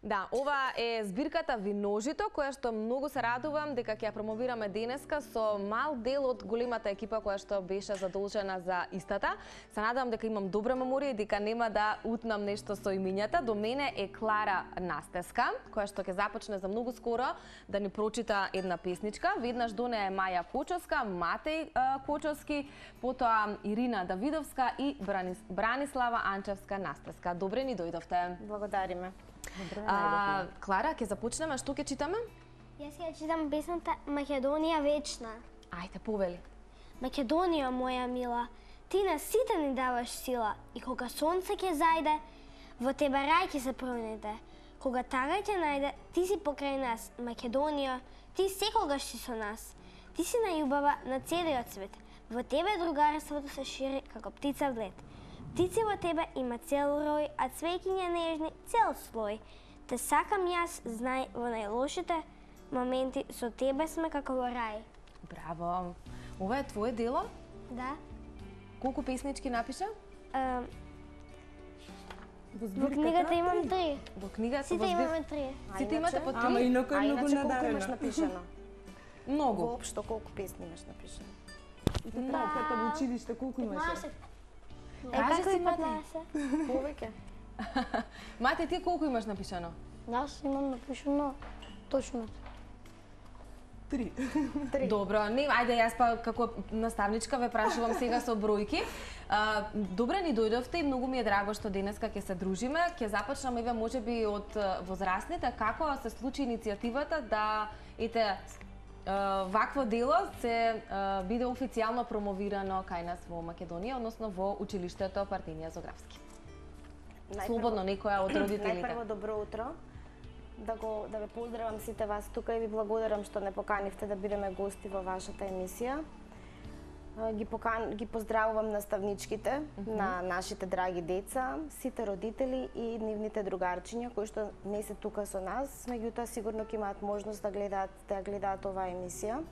Да, ова е збирката Виножито, која што многу се радувам дека ќе ја промовираме денеска со мал дел од големата екипа која што беше задолжена за истата. Се надевам дека имам добра меморија и дека нема да утнам нешто со имињата. До мене е Клара Настеска, која што ќе започне за многу скоро да ни прочита една песничка. Веднаш до неја е Маја Кочовска, Матеј Кочовски, потоа Ирина Давидовска и Бранислава Анчевска Настеска. Добре ни дојдовте. Благодариме. Клара, ќе започнеме, што ќе читаме? Јас ќе читам песната Македонија вечна. Ајде, повели. Македонија, моја мила, ти на сите ни даваш сила и кога сонце ќе зајде, во тебе рај ќе се пронеде. Кога тага ќе најде, ти си покрај нас, Македонија, ти секогаш си со нас. Ти си најубава на целиот свет. Во тебе другарството се шири како птица в лед. Птици во тебе има цел рој, а цвеќиња нежни цел слој. Те сакам јас, знај, во најлошите моменти со тебе сме како во рај. Браво! Ова е твое дело? Да. Колку песнички напиша? Во книгата имам 3. Во книгата Сите имаме 3. Сите имате по 3? Ама инаку е многу колку имаш надарена. напишано? Многу. Воопшто колку песни имаш напишано? Ката во училиште колку имаше? Кажи си, Мати. Повеќе. Мати, ти колку имаш напишано? Јас имам напишано точно. 3. Добро, не, ајде јас па како наставничка ве прашувам сега со бројки. Добре ни дојдовте и многу ми е драго што денеска ќе се дружиме. Ќе започнеме еве можеби од возрастните, како се случи иницијативата да вакво дело се биде официјално промовирано кај нас во Македонија, односно во училиштето Партинија Зографски. Слободно некоја од родителите. Најпрво добро утро. Да ве поздравам сите вас тука и ви благодарам што не поканивте да бидеме гости во вашата емисија. Ги поздравувам наставничките на нашите драги деца, сите родители и нивните другарчиња кои што не се тука со нас, меѓутоа сигурно ќе имаат можност да гледаат оваа емисија.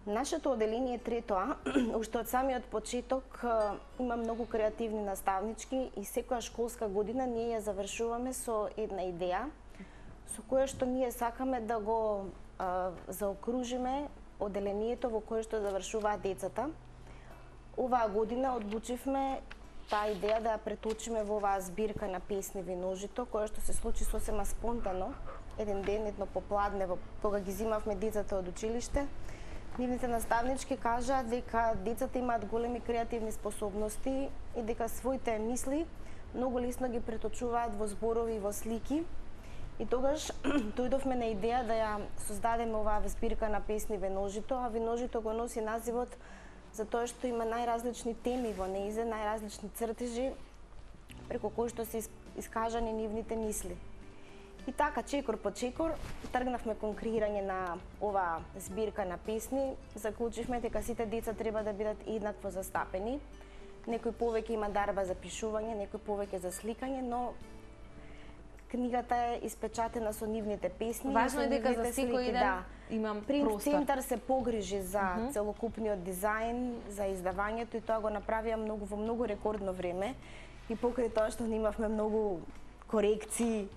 Нашето оделение Третоа, уште од самиот почеток, има многу креативни наставнички и секоја школска година ние ја завршуваме со една идеја со која што ние сакаме да го заокружиме оделението во кое што завршуваат децата. Оваа година одлучивме таа идеја да ја преточиме во оваа збирка на песни Виножито, која што се случи сосема спонтано, еден ден, едно попладне, кога ги зимавме децата од училиште. Нивните наставнички кажаа дека децата имаат големи креативни способности и дека своите мисли многу лесно ги преточуваат во зборови и во слики. И тогаш дојдовме на идеја да ја создадеме оваа збирка на песни Виножито, а Виножито го носи називот затоа што има најразлични теми во неизе, најразлични цртежи преку кои што се искажани нивните мисли. И така, чекор по чекор, тргнавме кон креирање на оваа збирка на песни, заклучивме дека сите деца треба да бидат еднакво застапени. Некој повеќе има дарба за пишување, некој повеќе за сликање, но книгата е испечатена со нивните песни. Важно е дека за секој ден имам Принт простор. Центар се погрижи за целокупниот дизајн, за издавањето и тоа го направија во многу рекордно време. И покрај тоа што имавме многу корекции,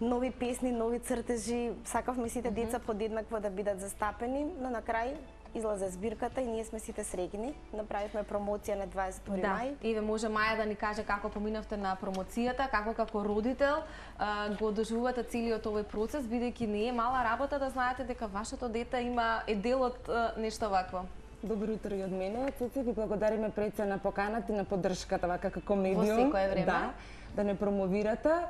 нови песни, нови цртежи, сакавме сите деца подеднакво да бидат застапени, но на крај излезе збирката и ние сме сите среќни. Направивме промоција на 22 мај. Да, може Маја да ни каже како поминавте на промоцијата, како родител го доживувате целиот овој процес, бидејќи не е мала работа да знаете дека вашето дете е дел од нешто вакво. Добро утро и од мене. Цеци, ви благодариме пред се на поканата и на поддршката вака како медиум. Во секое време. Да не промовирате.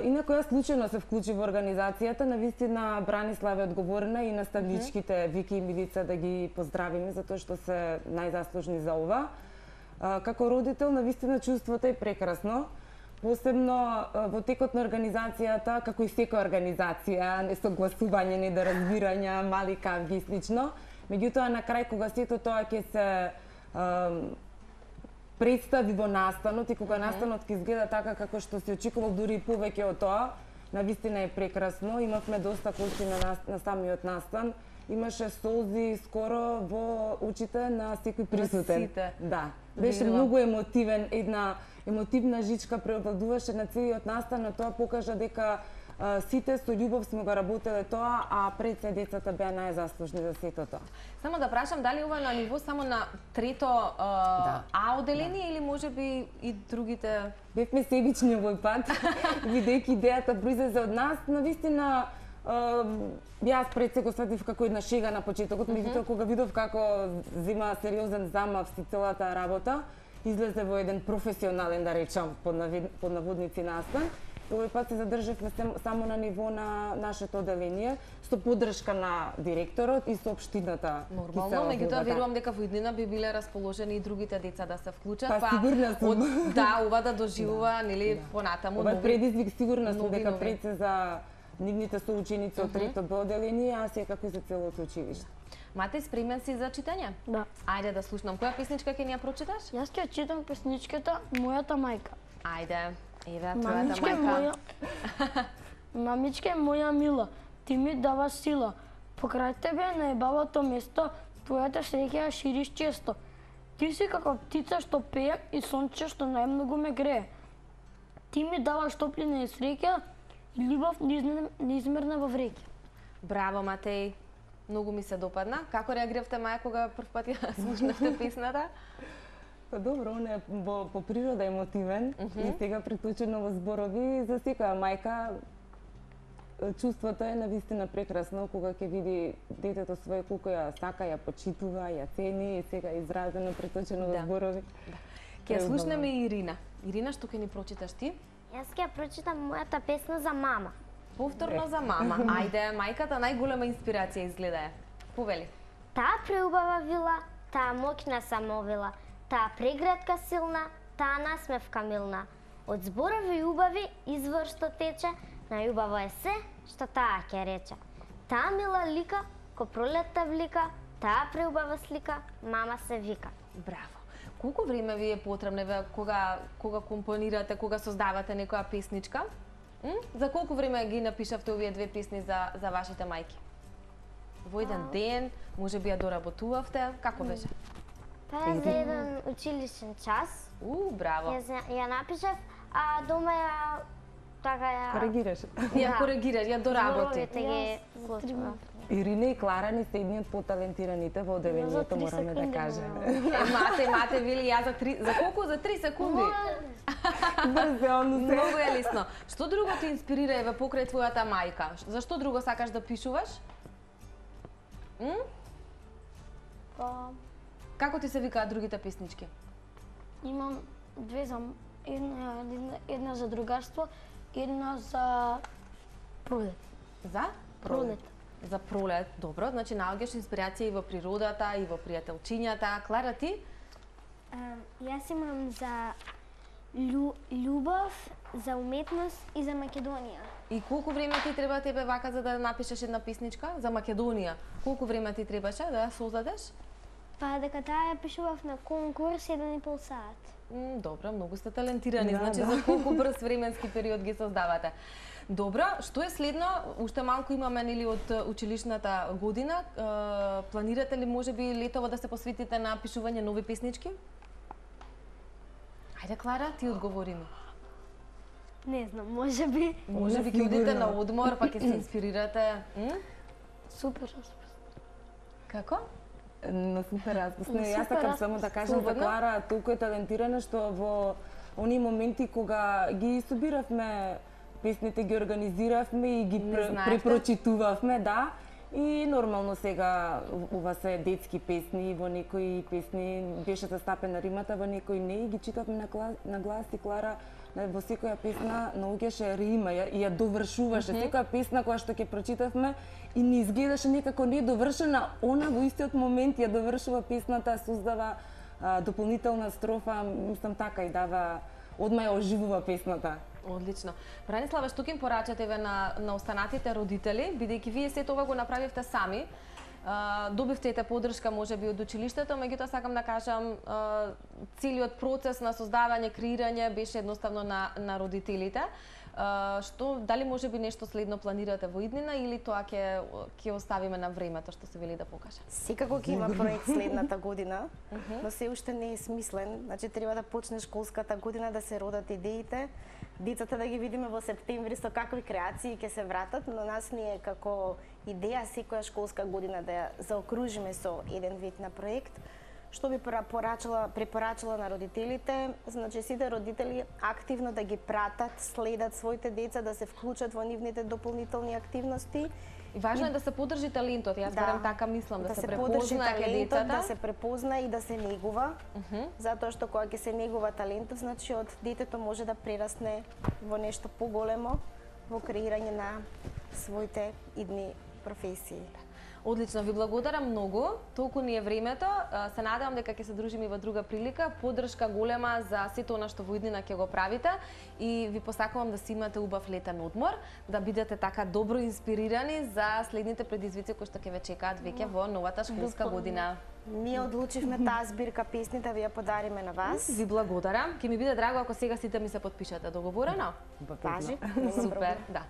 Инаку јас случајно се вклучи во организацијата, навистина Бранислава е одговорна и наставничките Вики и Милица да ги поздравиме затоа што се најзаслужни за ова. Како родител навистина чувството е прекрасно. Посебно во текот на организацијата, како и секоја организација, несогласување, недоразбирања, мали кавги и слично. Меѓутоа на крај кога сето тоа ќе се представи во настанот и кога настанот ќе изгледа така како што се очекувал, дури и повеќе од тоа, навистина е прекрасно. Имавме доста колци на самиот настан имаше солзи скоро во очите на секој присутен. сите. Да. Беше Видела. многу емотивен, една емотивна жичка преобладуваше на целиот настан, на тоа покажа дека сите со љубов сме го работеле тоа, а пред се децата беа најзаслужни за сето тоа. Само да прашам, дали ова на ниво само на трето А одделение или можеби и другите? Бевме себични овој пат, бидејќи идејата произлезе од нас, навистина јас пред се го сватив како една шега на почетокот, меѓутоа кога видов како зема сериозен замав си целата работа, излезе во еден професионален, да речам, под наводници настан. Овој пат се задржавме само на ниво на нашето одделение, со поддршка на директорот и со општината. Нормално, меѓутоа верувам дека во иднина би биле расположени и другите деца да се вклучат, Па сигурна сум. Да, ова да доживува, нели, понатаму Ова предизвик сигурна сум дека нови. пред се за нивните соученици од трето Б одделение, а секако и за целото училиште. Мате, спремен си за читање? Да. Ајде да слушнам. Која песничка ќе ни ја прочиташ? Јас ќе читам песничката Мојата мајка. Ајде, еве, твојата Мамичке мајка. моја, мамичке моја мила, ти ми даваш сила. Покрај тебе на ебавото место, твојата среќа ја шириш често. Ти си како птица што пее и сонче што најмногу ме грее. Ти ми даваш топлина и среќа и љубов неизмерна во вреќа. Браво, Матеј. Многу ми се допадна. Како реагиравте, маја, кога прв пат ја слушнавте песната? Па добро, он е по природа емотивен и сега преточено во зборови за секоја мајка чувството е навистина прекрасно кога ќе види детето свое колку ја сака, ја почитува, ја цени и сега изразено преточено во зборови. Ќе ја слушнеме и Ирина. Ирина, што ќе ни прочиташ ти? Јас ќе прочитам мојата песна за мама. Повторно за мама. Ајде, мајката најголема инспирација изгледа е. Повели. Таа преубава вила, таа моќна самовила, таа преградка силна, таа насмевка милна. Од зборови убави извор што тече, најубаво е се што таа ќе рече. Таа мила лика, ко пролетта влика, таа преубава слика, мама се вика. Браво. Колку време ви е потребно кога компонирате, кога создавате некоја песничка? За колку време ги напишавте овие две песни за вашите мајки? Во еден ден, може би ја доработувавте, како беше? Тоа за еден училишен час. Браво. Јас ја напишав, а дома ја така ја Коригираш. Ја коригираш, ја доработи. зборовите ги готвам. Ирина и Клара ни се едни од поталентираните во одделението, мораме да кажеме. Мате, вели ја за колку? За 3 секунди. Брзелно се. Многу е лесно. Што друго те инспирира еве покрај твојата мајка? Зашто друго сакаш да пишуваш? Па, Како ти се викаат другите песнички? имам две за една за другарство, една за пролет. За Пролет. За пролет, добро. Значи наоѓаш инспирација и во природата, и во пријателчињата. Клара, ти? Јас имам за љубов, за уметност и за Македонија. И колку време ти треба тебе вака за да напишеш една песничка за Македонија? Колку време ти требаше да ја создадеш? Па дека таа ја пишував на конкурс 1,5 сат. Добро, многу сте талентирани, значи за колку брз временски период ги создавате. Добро, што е следно? Уште малку имаме нели од училишната година. Планирате ли можеби летово да се посветите на пишување нови песнички? Ајде, Клара, ти одговори ми. Не знам, можеби. Можеби ќе одите на одмор, па ќе се инспирирате. Супер. Како? Но супер распусно. Јас сакам само да кажам за Клара, толку е талентирана што во оние моменти кога ги собиравме песните, ги организиравме и ги препрочитувавме, да. И нормално сега ова се детски песни, во некои песни беше застапена римата, во некои не, и ги читавме на глас и Клара во секоја песна наоѓаше рима и ја довршуваше. Секоја песна која што ќе прочитавме и ни изгледаше некако недовршена, она во истиот момент ја довршува песната, создава дополнителна строфа, мислам така и дава, одма ја оживува песната. Одлично. Бранислава, што ќе им порачате на останатите родители, бидејќи вие сето ова го направивте сами, добивте ете поддршка можеби од училиштето, меѓутоа сакам да кажам целиот процес на создавање, креирање беше едноставно на родителите. Што дали можеби нешто следно планирате во иднина или тоа ќе оставиме на времето што се вели да покаже? Секако ќе има проект следната година, но се уште не е смислен. Значи треба да почне школската година, да се родат идеите, децата да ги видиме во септември со какви креации ќе се вратат, но нас ни е како идеја секоја школска година да ја заокружиме со еден вид на проект, што би препорачала на родителите, значи сите родители активно да ги пратат, следат своите деца, да се вклучат во нивните дополнителни активности. И важно е да се подржи талентот, јас барем така мислам, да се подржи препозна кај талентот, децата. да се препозна и да се негува, затоа што кога ќе се негува талентот, значи од детето може да прерасне во нешто поголемо, во креирање на своите идни професии. Одлично, ви благодарам многу. Толку ни е времето. Се надевам дека ќе се дружиме во друга прилика. Поддршка голема за сето она што во иднина ќе го правите и ви посакувам да си имате убав летен одмор, да бидете така добро инспирирани за следните предизвици кои што ќе ве чекаат веќе во новата школска година. Ние одлучивме таа збирка песни да ви ја подариме на вас. Ви благодарам. Ќе ми биде драго ако сега сите ми се потпишете. Договорено? Важи. Супер, да.